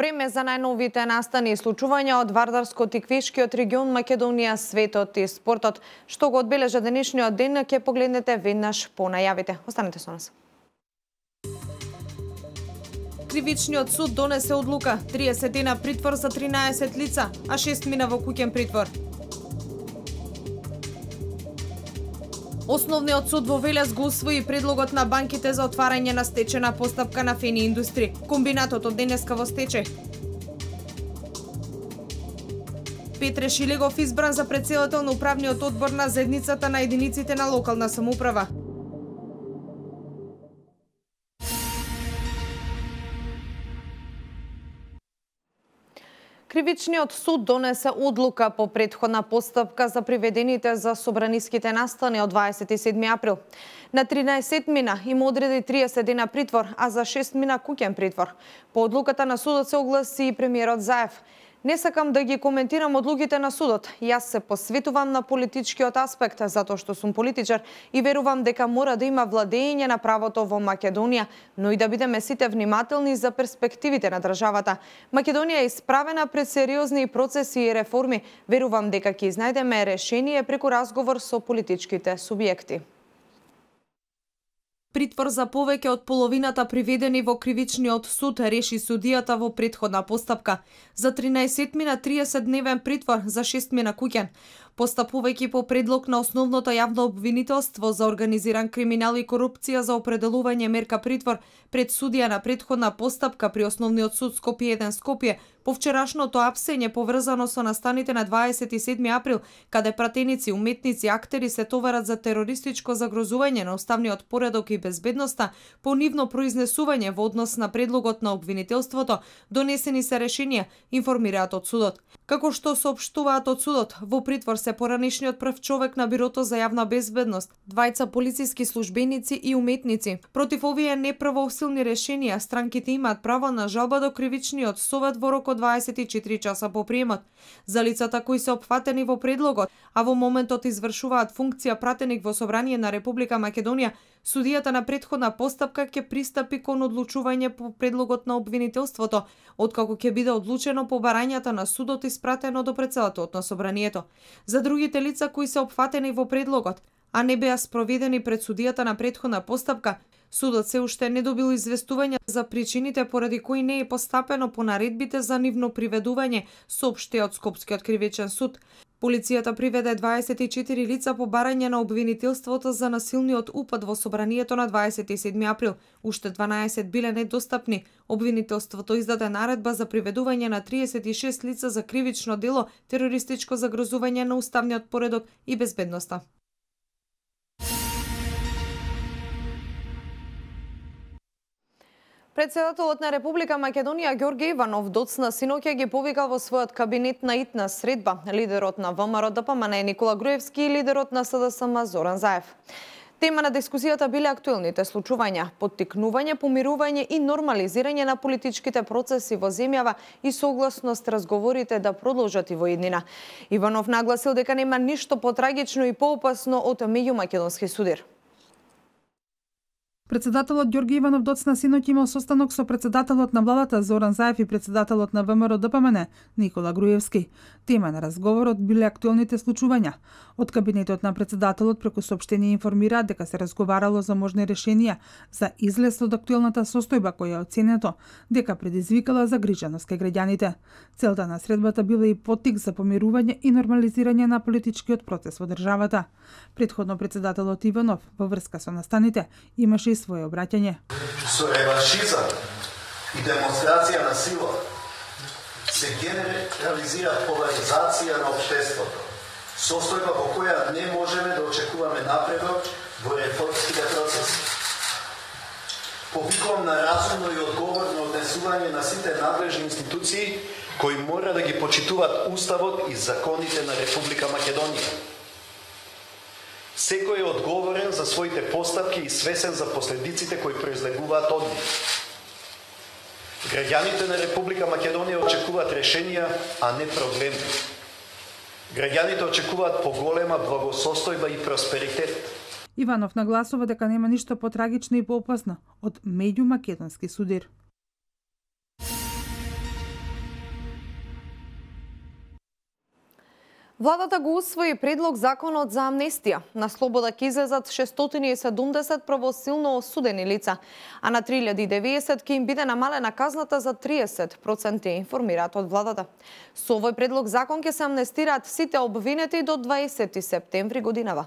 Време за најновите настани и случувања од Вардарско-Тиквишкиот регион, Македонија, светот и спортот. Што го одбележа денешниот ден, ќе погледнете веднаш по најавите. Останете со нас. Кривичниот суд донесе одлука 30 дена притвор за 13 лица, а 6 мина во куќен притвор. Основниот суд во Велес го усвои предлогот на банките за отварање на стечена постапка на Фени Индустри. Комбинатот од денеска во стечај. Петре Шилегов избран за претседател на управниот одбор на заедницата на единиците на локална самоуправа. Кривичниот суд донесе одлука по претходна постапка за приведените за собраниските настани од 27 април. На 13 мина им одреди 30 дена притвор, а за 6 мина куќен притвор. По одлуката на судот се огласи и премиерот Заев. Не сакам да ги коментирам одлуките на судот. Јас се посветувам на политичкиот аспект, затоа што сум политичар и верувам дека мора да има владење на правото во Македонија, но и да бидеме сите внимателни за перспективите на државата. Македонија е исправена пред сериозни процеси и реформи. Верувам дека ќе изнајдеме решение преку разговор со политичките субјекти. Притвор за повеќе од половината приведени во Кривичниот суд реши судијата во претходна постапка. За 13 мина 30-дневен притвор, за 6 мина куќен. Постапувајќи по предлог на основното јавно обвинителство за организиран криминал и корупција за определување мерка притвор пред судија на претходна постапка при Основниот суд Скопје 1 Скопје, по вчерашното апсење поврзано со настаните на 27 април, каде пратеници, уметници, актери се товарат за терористичко загрозување на уставниот поредок и безбедноста, по нивно произнесување во однос на предлогот на обвинителството, донесени се решенија, информираат од судот. Како што соопштуваат од судот, во притвор се поранишниот прв човек на Бирото за јавна безбедност, двајца полициски службеници и уметници. Против овие неправосилни решенија, странките имаат право на жалба до Кривичниот совет во рок од 24 часа по приемот. За лицата кои се опфатени во предлогот, а во моментот извршуваат функција пратеник во Собрание на Република Македонија, судијата на претходна постапка ќе пристапи кон одлучување по предлогот на обвинителството, откако ќе биде одлучено по барањата на судот испратено до претседателот на Собранието. За другите лица кои се опфатени во предлогот, а не беа спроведени пред судијата на претходна постапка, судот се уште не добил известување за причините поради кои не е постапено по наредбите за нивно приведување, соопшти од Скопскиот кривичен суд. Полицијата приведе 24 лица по барање на обвинителството за насилниот упад во Собранието на 27 април. Уште 12 биле недостапни. Обвинителството издаде наредба за приведување на 36 лица за кривично дело, терористичко загрозување на уставниот поредок и безбедноста. Претседателот на Република Македонија Ѓорѓе Иванов доцна синоќа ги повикал во својот кабинет на итна средба лидерот на ВМРО ДПМН Никола Груевски и лидерот на СДСМ Зоран Заев. Тема на дискусијата биле актуелните случувања, поттикнување, помирување и нормализирање на политичките процеси во земјава и согласност разговорите да продолжат и во иднина. Иванов нагласил дека нема ништо потрагично и поопасно од меѓумакедонски судир. Председателот Ѓорѓе Иванов доцна синоќ имал состанок со председателот на владата Зоран Заев и председателот на ВМРО ДПМН Никола Груевски. Тема на разговорот биле актуелните случувања. Од кабинетот на председателот преку соопштение информираат дека се разговарало за можни решенија за излез од актуелната состојба која е оценето дека предизвикала загриженост кај граѓаните. Целта на средбата била и поттик за помирување и нормализирање на политичкиот процес во државата. Претходно председателот Иванов во врска со настаните имаше и свое обраќање. Со реваншизам и демонстрација на сила се генерализира поларизација на општеството, состојба во која не можеме да очекуваме напредок во реформските процеси. Повикувам на разумно и одговорно однесување на сите надлежни институции кои мора да ги почитуваат Уставот и законите на Република Македонија. Секој е одговорен за своите постапки и свесен за последиците кои произлегуваат од нив. Граѓаните на Република Македонија очекуваат решенија, а не проблеми. Граѓаните очекуваат поголема благосостојба и просперитет. Иванов нагласува дека нема ништо потрагично и поопасно од меѓумакедонски судир. Владата го усвои предлог законот за амнестија. На слобода ќе излезат 670 правосилно осудени лица, а на 3090 ќе им биде намалена казната за 30%, информираат од владата. Со овој предлог закон ќе се амнестираат сите обвинети до 20 септември годинава.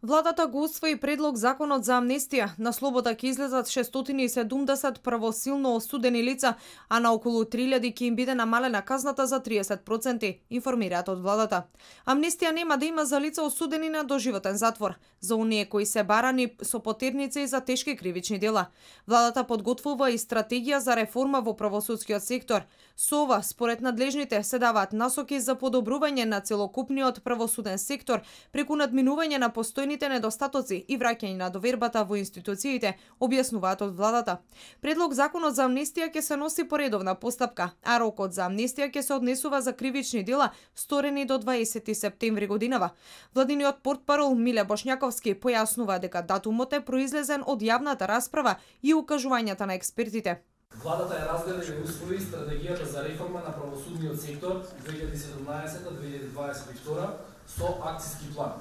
Владата го усвои предлог законот за амнестија. На слобода ќе излезат 670 правосилно осудени лица, а на околу 3000 ќе им биде намалена казната за 30%, информираат од владата. Амнестија нема да има за лица осудени на доживотен затвор, за оние кои се барани со потерница и за тешки кривични дела. Владата подготвува и стратегија за реформа во правосудскиот сектор. Со ова, според надлежните, се даваат насоки за подобрување на целокупниот правосуден сектор преку надминување на постојните недостатоци и враќање на довербата во институциите, објаснуваат од владата. Предлог законот за амнестија ќе се носи по редовна постапка, а рокот за амнестија ќе се однесува за кривични дела сторени до 20 септември годинава. Владиниот портпарол Миле Бошњаковски појаснува дека датумот е произлезен од јавната расправа и укажувањата на експертите. Владата е разгледа и усвои стратегијата за реформа на правосудниот сектор 2017-2022 со акциски план.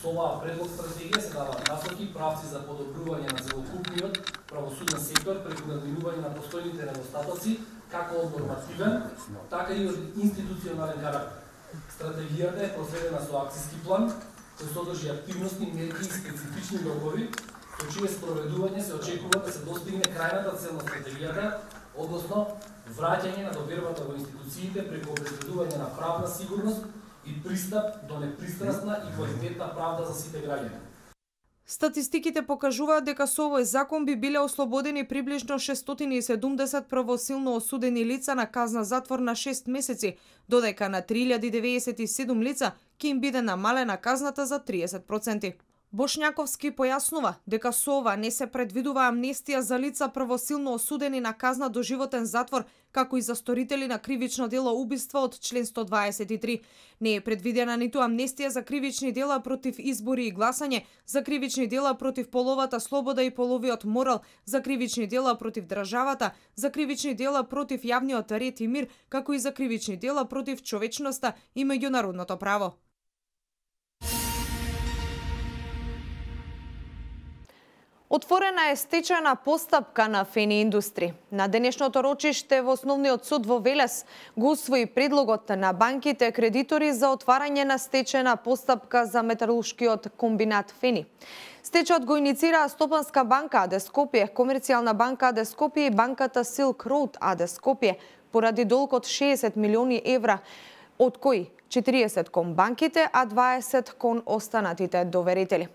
Со оваа предлог стратегија се даваат насоки, правци за подобрување на целокупниот правосуден сектор преку надминување на постојните недостатоци, како од нормативен, така и од институционален карактер. Стратегијата е проследена со акциски план, кој содржи активности, мерки и специфични рокови, со чие спроведување се очекува да се достигне крајната цел на стратегијата, односно враќање на довербата во институциите преку обезбедување на правна сигурност и пристап до непристрасна и квалитетна правда за сите граѓани. Статистиките покажуваат дека со овој закон би биле ослободени приближно 670 правосилно осудени лица на казна затвор на 6 месеци, додека на 3097 лица ќе им биде намалена казната за 30%. Бошњаковски појаснува дека со ова не се предвидува амнестија за лица правосилно осудени на казна до животен затвор, како и за сторители на кривично дело убиство од член 123. Не е предвидена ниту амнестија за кривични дела против избори и гласање, за кривични дела против половата слобода и половиот морал, за кривични дела против државата, за кривични дела против јавниот ред и мир, како и за кривични дела против човечноста и меѓународното право. Отворена е стечајна постапка на Фени Индустри. На денешното рочиште во Основниот суд во Велес го усвои предлогот на банките кредитори за отварање на стечајна постапка за металуршкиот комбинат Фени. Стечајот го иницираа Стопанска банка АД Скопје, Комерцијална банка АД Скопје и банката Silk Road АД Скопје поради долг од 60 милиони евра, од кои 40 кон банките, а 20 кон останатите доверители.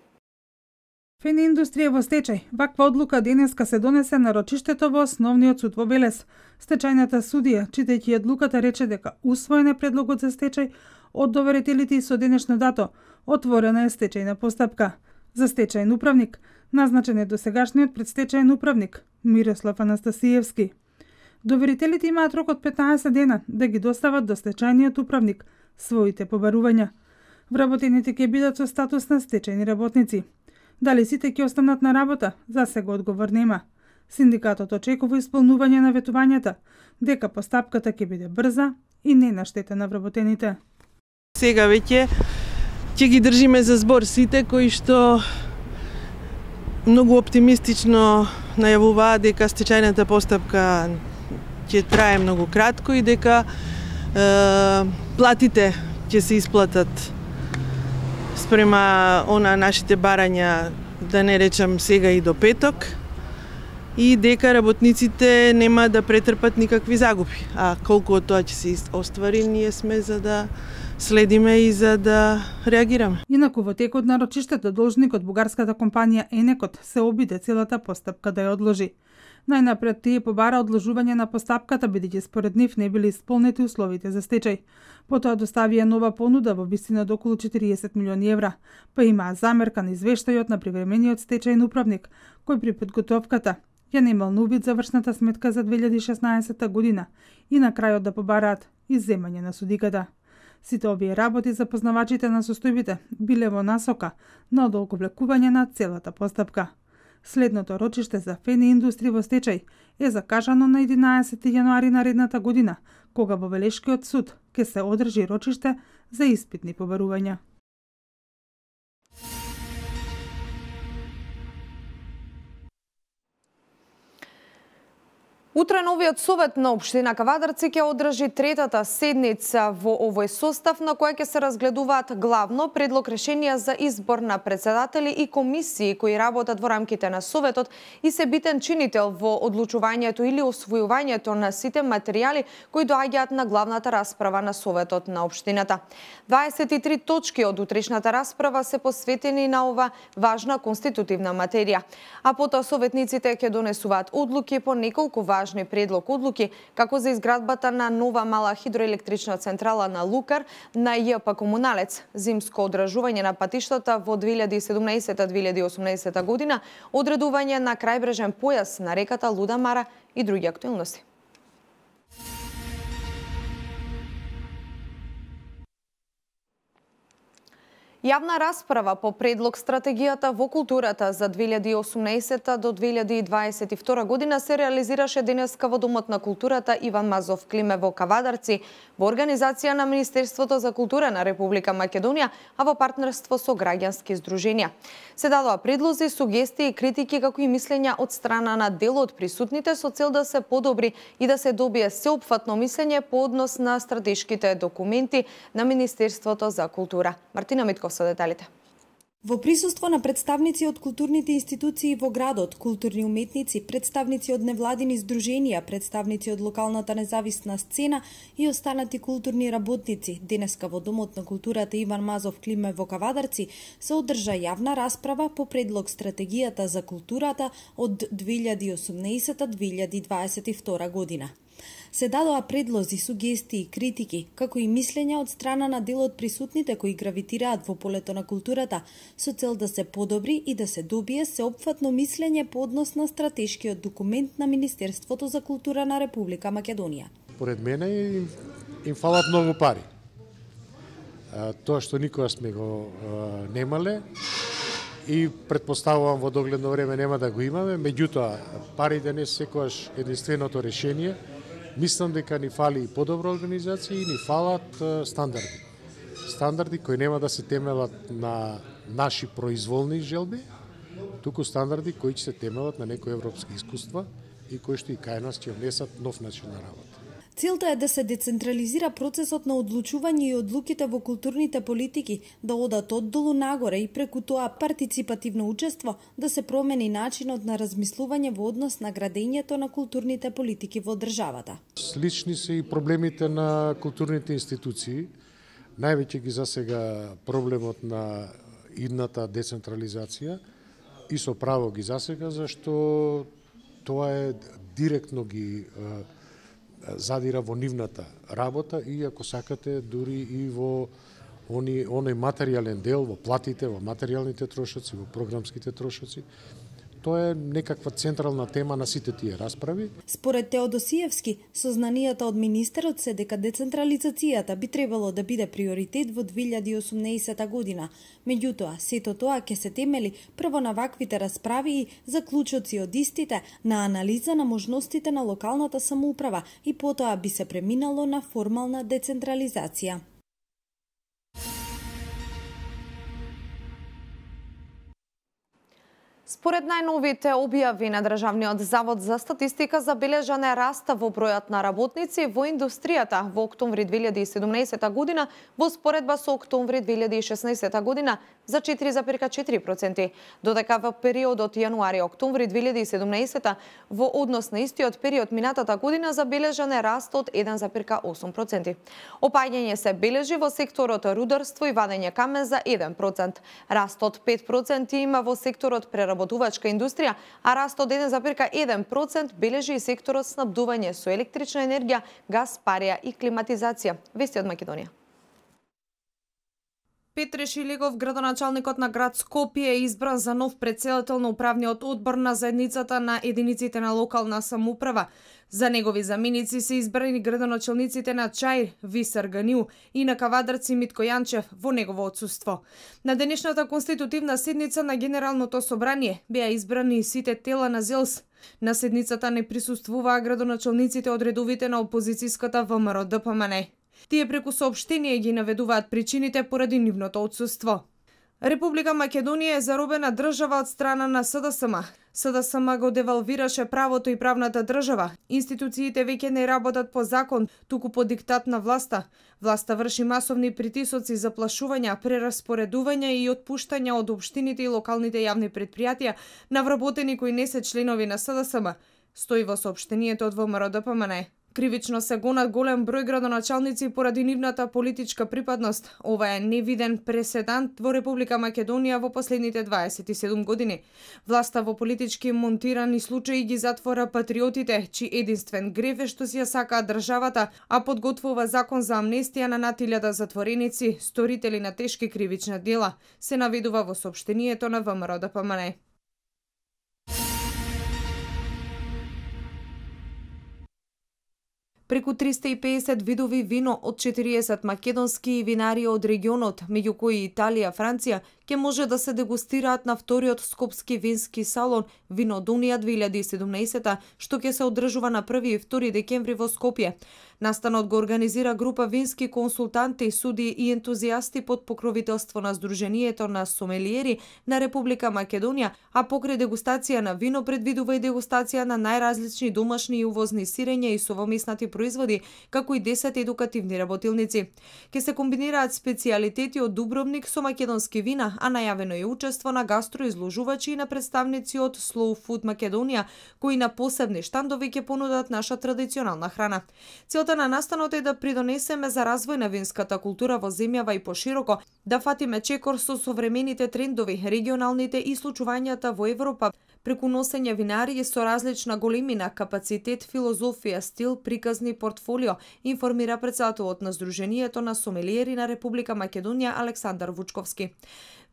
Фени Индустрија во стечај. Ваква одлука денеска се донесе на рочиштето во Основниот суд во Велес. Стечајната судија, читајќи одлуката, рече дека усвоен е предлогот за стечај од доверителите и со денешно дато отворена е стечајна постапка. За стечајен управник назначен е досегашниот предстечајен управник Мирослав Анастасиевски. Доверителите имаат рок од 15 дена да ги достават до стечајниот управник своите побарувања. Вработените ќе бидат со статус на стечајни работници. Дали сите ќе останат на работа, за сега одговор нема. Синдикатот очекува исполнување на ветувањата, дека постапката ќе биде брза и не на штета на вработените. Сега веќе ќе ги држиме за збор сите кои што многу оптимистично најавуваа дека стечајната постапка ќе трае многу кратко и дека платите ќе се исплатат спрема нашите барања, да не речам сега и до петок, и дека работниците нема да претрпат никакви загуби. А колку од тоа ќе се оствари, ние сме за да следиме и за да реагираме. Инаку во текот на рочиштето должникот бугарската компанија Енекот се обиде целата постапка да ја одложи. Најнапред тие побара одложување на постапката бидејќи според нив не били исполнети условите за стечај. Потоа доставија нова понуда во висина до околу 40 милиони евра, па имаа замерка на извештајот на привремениот стечајен управник, кој при подготовката ја немал на увид завршната сметка за 2016 година и на крајот да побараат изземање на судиката. Сите овие работи за познавачите на состојбите биле во насока на одолговлекување на целата постапка. Следното рочиште за ФНИ индустрија во стечај е закажано на 11 јануари наредната година, кога во Велешкиот суд ќе се одржи рочиште за испитни побарувања. Утре новиот совет на општина Кавадарци ќе одржи третата седница во овој состав на која ќе се разгледуваат главно предлог решенија за избор на председатели и комисии кои работат во рамките на советот и се битен чинител во одлучувањето или освојувањето на сите материјали кои доаѓаат на главната расправа на советот на општината. 23 точки од утрешната расправа се посветени на ова важна конститутивна материја, а потоа советниците ќе донесуваат одлуки по неколку важни предлог одлуки, како за изградбата на нова мала хидроелектрична централа на Лукар, на ЈП Комуналец, зимско одражување на патиштата во 2017-2018 година, одредување на крајбрежен појас на реката Луда Мара и други актуелности. Јавна расправа по предлог стратегијата во културата за 2018 до 2022 година се реализираше денеска во Домот на културата Иван Мазов Климе во Кавадарци, во организација на Министерството за култура на Република Македонија, а во партнерство со граѓански здруженија. Се дадоа предлози, сугестии и критики како и мислења од страна на дел од присутните со цел да се подобри и да се добие сеопфатно мислење по однос на стратешките документи на Министерството за култура. Мартина Митков со деталите. Во присуство на представници од културните институции во градот, културни уметници, представници од невладини здруженија, представници од локалната независна сцена и останати културни работници, денеска во Домот на културата Иван Мазов Климе во Кавадарци се одржа јавна расправа по предлог стратегијата за културата од 2018-2022 година. Се дадоа предлози, сугестии и критики, како и мислења од страна на дел од присутните кои гравитираат во полето на културата, со цел да се подобри и да се добие сеопфатно мислење по однос на стратешкиот документ на Министерството за култура на Република Македонија. Поред мене им фалат многу пари. Тоа што никога сме го немале и предпоставувам во догледно време нема да го имаме, меѓутоа парите не секогаш единственото решение. Мислам дека ни фали и подобра организација и ни фалат стандарди. Стандарди кои нема да се темелат на наши произволни желби, туку стандарди кои ќе се темелат на некои европски искуства и кои што и кај нас ќе внесат нов начин на работа. Целта е да се децентрализира процесот на одлучување и одлуките во културните политики, да одат оддолу нагоре и преку тоа партиципативно учество да се промени начинот на размислување во однос на градењето на културните политики во државата. Слични се и проблемите на културните институции. Највеќе ги засега проблемот на идната децентрализација и со право ги засега, зашто тоа е директно ги задира во нивната работа и, ако сакате, дури и во оној материјален дел, во платите, во материјалните трошоци, во програмските трошоци. Тоа е некаква централна тема на сите тие расправи. Според Теодосиевски, сознанијата од министерот се дека децентрализацијата би требало да биде приоритет во 2018 година. Меѓутоа, сето тоа ќе се темели прво на ваквите расправи и заклучоци од истите, на анализа на можностите на локалната самоуправа и потоа би се преминало на формална децентрализација. Според најновите објави на Државниот завод за статистика, забележан е раст во бројот на работници во индустријата во октомври 2017 година во споредба со октомври 2016 година, за 4,4%, додека во периодот јануари-октомври 2017 во однос на истиот период минатата година забележан е раст од 1,8%. Опаѓање се бележи во секторот рударство и вадење камен за 1%. Раст од 5% има во секторот преработувачка индустрија, а раст од 1,1% бележи и секторот снабдување со електрична енергија, газ, парија и климатизација. Вести од Македонија. Петре Шилегов, градоначалникот на град Скопје, е избран за нов претседател на управниот одбор на заедницата на единиците на локална самоуправа. За негови заменици се избрани градоначалниците на Чаир, Висар Ганиу и на Кавадарци Митко Јанчев во негово отсуство. На денешната конститутивна седница на Генералното собрание беа избрани сите тела на ЗЕЛС. На седницата не присуствуваа градоначалниците од редовите на опозицијската ВМРО ДПМН. Тие преку соопштение ги наведуваат причините поради нивното отсуство. Република Македонија е заробена држава од страна на СДСМ. СДСМ го девалвираше правото и правната држава. Институциите веќе не работат по закон, туку по диктат на власта. Власта врши масовни притисоци, заплашувања, прераспоредувања и отпуштања од општините и локалните јавни претпријатија на вработени кои не се членови на СДСМ, стои во соопштението од ВМРО ДПМН. Кривично се гонат голем број градоначалници поради нивната политичка припадност. Ова е невиден преседант во Република Македонија во последните 27 години. Власта во политички монтирани случаи ги затвора патриотите, чии единствен грев е што си ја сакаат државата, а подготвува закон за амнестија на над 1000 затвореници, сторители на тешки кривични дела, се наведува во соопштението на ВМРО ДПМН. Преку 350 видови вино од 40 македонски винари од регионот, меѓу кои Италија, Франција, ќе може да се дегустираат на вториот скопски вински салон Винодонија 2017, што ќе се одржува на 1 и 2 декември во Скопје. Настанот го организира група вински консултанти, суди и ентузијасти под покровителство на Сдруженијето на сомелиери на Република Македонија, а покрај дегустација на вино предвидува и дегустација на најразлични домашни и увозни сирења и совомеснати производи, како и 10 едукативни работилници. Ке се комбинираат специјалитети од Дубровник со македонски вина, а најавено е учество на гастроизложувачи и на представници од Slow Food Македонија, кои на посебни штандови ќе понудат наша традиционална храна. Целта на настанот е да придонесеме за развој на винската култура во земјава и пошироко, да фатиме чекор со современите трендови, регионалните и случувањата во Европа, преку носење винари со различна големина, капацитет, филозофија, стил, приказни портфолио, информира председателот на Сдруженијето на сомелиери на Република Македонија Александар Вучковски.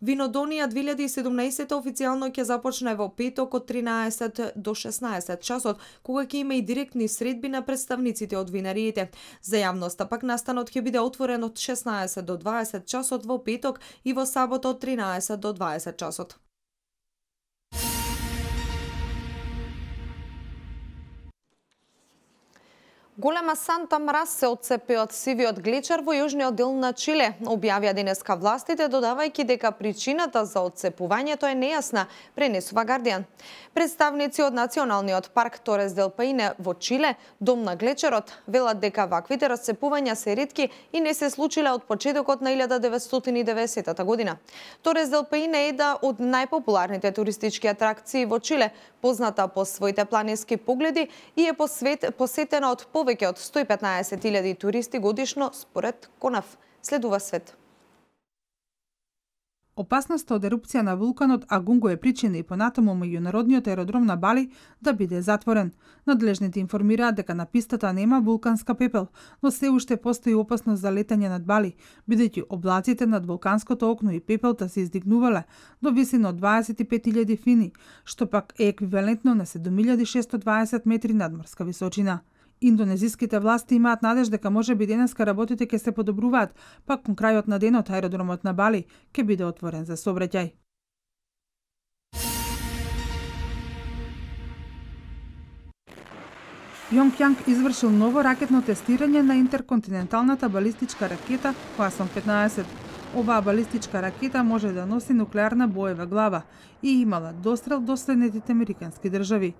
Винодонија 2017 официјално ќе започне во петок од 13 до 16 часот, кога ќе има и директни средби на представниците од винариите. За јавноста пак настанот ќе биде отворен од 16 до 20 часот во петок и во сабота од 13 до 20 часот. Голема санта мраз се отцепи од сивиот глечер во јужниот дел на Чиле, објавија денеска властите, додавајќи дека причината за отцепувањето е нејасна, пренесува Гардијан. Представници од Националниот парк Торес дел Паине во Чиле, дом на глечерот, велат дека ваквите расцепувања се ретки и не се случиле од почетокот на 1990 година. Торес дел Паине е една од најпопуларните туристички атракции во Чиле, позната по своите планински погледи и е посетена од повеќе од 115.000 туристи годишно, според КОНАФ. Следува свет. Опасноста од ерупција на вулканот Агунго е причина и понатаму меѓународниот аеродром на Бали да биде затворен. Надлежните информираат дека на пистата нема вулканска пепел, но се уште постои опасност за летање над Бали, бидејќи облаците над вулканското окно и пепелта се издигнувале до висина од 25.000 фини, што пак е еквивалентно на 7.620 метри надморска височина. Индонезиските власти имаат надеж дека може би денеска работите ќе се подобруваат, пак кон крајот на денот аеродромот на Бали ќе биде отворен за сообраќај. Пjongjang извршил ново ракетно тестирање на интерконтиненталната балистичка ракета Hwasong 15. Оваа балистичка ракета може да носи нуклеарна боева глава и имала дострел до следните американски држави.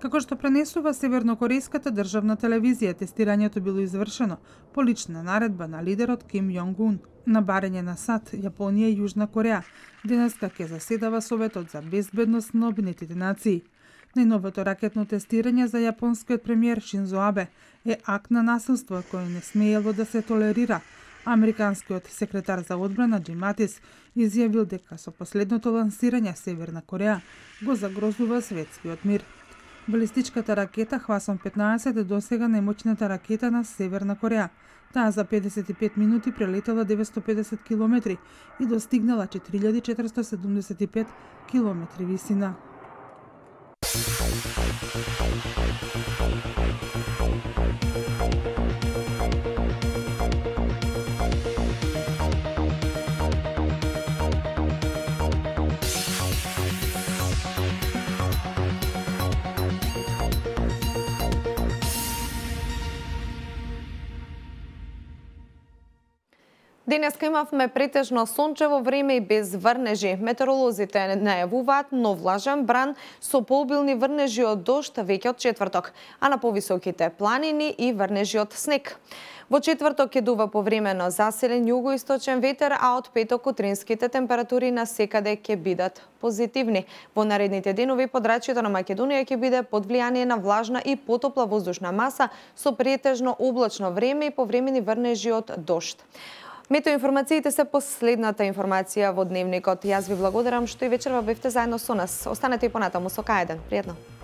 Како што пренесува севернокорејската државна телевизија, тестирањето било извршено по лична наредба на лидерот Ким Јонг Ун. На барање на САД, Јапонија и Јужна Кореја денеска ќе заседава Советот за безбедност на Обединетите нации. Најновото ракетно тестирање за јапонскиот премиер Шинзо Абе е акт на насилство кој не смеело да се толерира. Американскиот секретар за одбрана Џим Матис изјавил дека со последното лансирање Северна Кореја го загрозува светскиот мир. Балистичката ракета Хвасон 15 е досега најмоćната ракета на Северна Кореја. Таа за 55 минути прелетела 950 километри и достигнала 4475 километри висина. Денеска имавме претежно сончево време и без врнежи. Метеоролозите најавуваат нов влажен бран со пообилни врнежи од дожд веќе од четврток, а на повисоките планини и врнежи од снег. Во четврток ќе дува повремено заселен југоисточен ветер, а од петок утринските температури на секаде ќе бидат позитивни. Во наредните денови подрачјето на Македонија ќе биде под влијание на влажна и потопла воздушна маса со претежно облачно време и повремени врнежи од дожд. Метеоинформациите се последната информација во дневникот. Јас ви благодарам што и вечерва бевте заедно со нас. Останете и понатаму со К1. Пријатно.